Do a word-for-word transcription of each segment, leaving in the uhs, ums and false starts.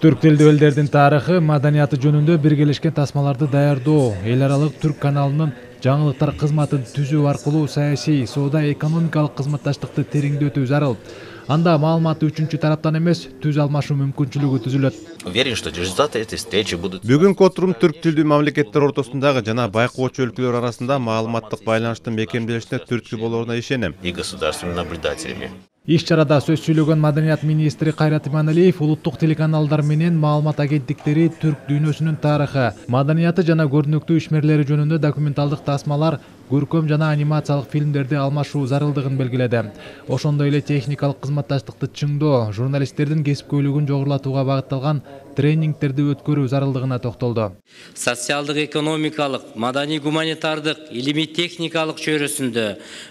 Түрк тилдүү элдердин тарыхы, маданияты жөнүндө биргелешкен тасмаларды даярдоо, эл аралык түрк каналынын жаңылыктар кызматын түзүү аркылуу саясий, соода, экономикалык кызматташтыкты тереңдетүү зарыл. Анда маалыматты үчүнчү тараптан эмес, түз алмашуу мүмкүнчүлүгү түзүлөт. Уверен, что результаты этой встречи будут. Бүгүнкү отурум түрк тилдүү мамлекеттер ортосундагы жана байкоочу өлкөлөр арасында маалыматтык байланыштын бекемделишине түрткү болоруна ишенем. И государственными наблюдателями. Иш чарада сөз сүйлөгөн маданият министри Кайрат Иманалиев улуттук телеканалдар менен маалымат агенттиктери түрк дүйнөсүнүн тарыхы, маданияты жана көрүнүктүү ишмерлери жөнүндө документалдык тасмалар, көркөм жана анимациялык фильмдерди алмашуу зарылдыгын белгиледи. Ошондой эле техникалык кызматташтыкты чыңдоо, журналисттердин кесипкөйлүгүн жогорулатууга багытталган тренингтерди өткөрүү зарылдыгына токтолду. Социалдык, экономикалык, маданий, гуманитардык, илимий техникалык чөйрөсүндө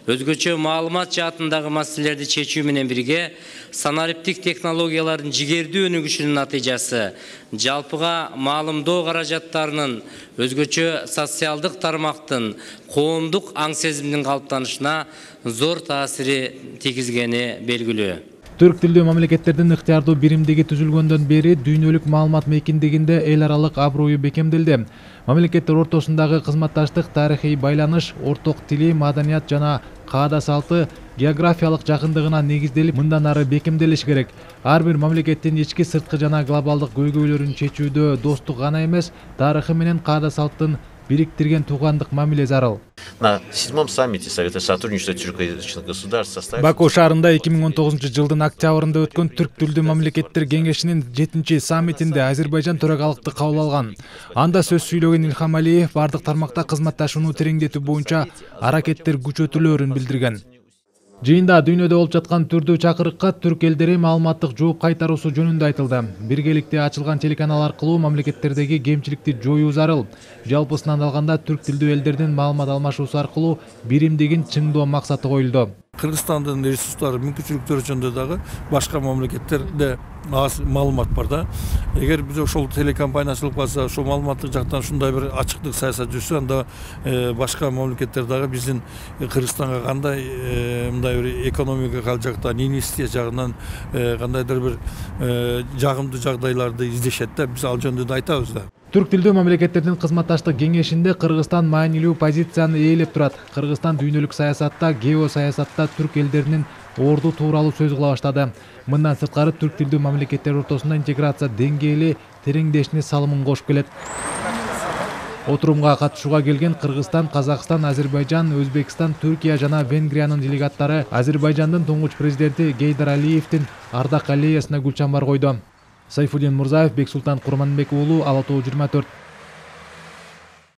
өзгөчө маалымат жаатындагы маселелерди чечүү менен бирге санариптик технологиялардын жигердүү өнүгүшүнүн натыйжасы жалпыга маалымдоо каражаттарынын өзгөчө социалдык тармактын коомдук аң сезимдин калыптанышына зор таасири тийгизгени белгилүү. Түрк тилдүү мамлекеттердин ыктыярдуу биримдиги түзүлгөндөн бери дүйнөлүк маалымат мейкиндигинде эл аралык аброю бекемделди. Мамлекеттер ортосундагы кызматташтык, тарыхый байланыш, орток тили, маданият жана каада салты географиялык жакындыгына негизделип, мындан ары бекемделиш керек. Ар бир мамлекеттин ички, сырткы жана глобалдык көйгөйлөрүн чечүүдө достук гана эмес, тарыхы менен каада салттын бириктирген туугандык мамиле зарыл. На седьмом саммите Совета сотрудничества тюркоязычных государств составил... Баку шаарында эки миң он тогузунчу жылдын октябрында өткөн Түрк тилдүү мамлекеттер кеңешинин жетинчи саммитинде Азербайжан төрагалыкты кабыл алган. Анда сөз сүйлөгөн Илхам Алиев бардык тармакта кызматташууну тереңдетүү боюнча аракеттер күчөтүлөөрүн билдирген. Жыйында дүйнөдө болуп жаткан түрдүү чакырыкка түрк элдери маалыматтык жооп кайтаруусу жөнүндө айтылды. Биргеликте ачылган телеканал аркылуу мамлекеттердеги кемчиликти жоюу зарыл. Жалпысынан алганда түрк тилдүү элдердин маалымат алмашуусу аркылуу биримдигин чыңдоо максаты коюлду. Кыргызстандын ресурстары, мүмкүнчүлүктөрү жөнүндө дагы башка мамлекеттерде аз маалымат бар да. Эгер биз ошол телекомпания ачылып калса, ошол маалыматтык жактан ушундай бир ачыктык саясат жүрсө, анда башка мамлекеттер дагы биздин Кыргызстанга кандай мындай бир экономикалык жактан, инвестиция жагынан кандайдыр бир жагымдуу жагдайларды издешет да, биз ал жөнүндө да айтабыз да. Түрк тилдүү мамлекеттердин кызматташтык кеңешинде Кыргызстан маанилүү позицияны ээлеп турат. Кыргызстан дүйнөлүк саясатта, геосаясатта түрк элдеринин орду тууралуу сөз кыла баштады. Мындан сырткары түрк тилдүү мамлекеттер ортосунда интеграция деңгээли тереңдешине салымын кошуп келет. Отурумга катышууга келген Кыргызстан, Казакстан, Азербайжан, Өзбекстан, Түркия жана Венгриянын делегаттары Азербайжандын туңгуч президенти Гейдар Алиевдин ардак аллеясына гүл чамбар койду. Сайфуддин Мурзаев, Бексултан Курманбек уулу, Ала Тоо жыйырма төрт.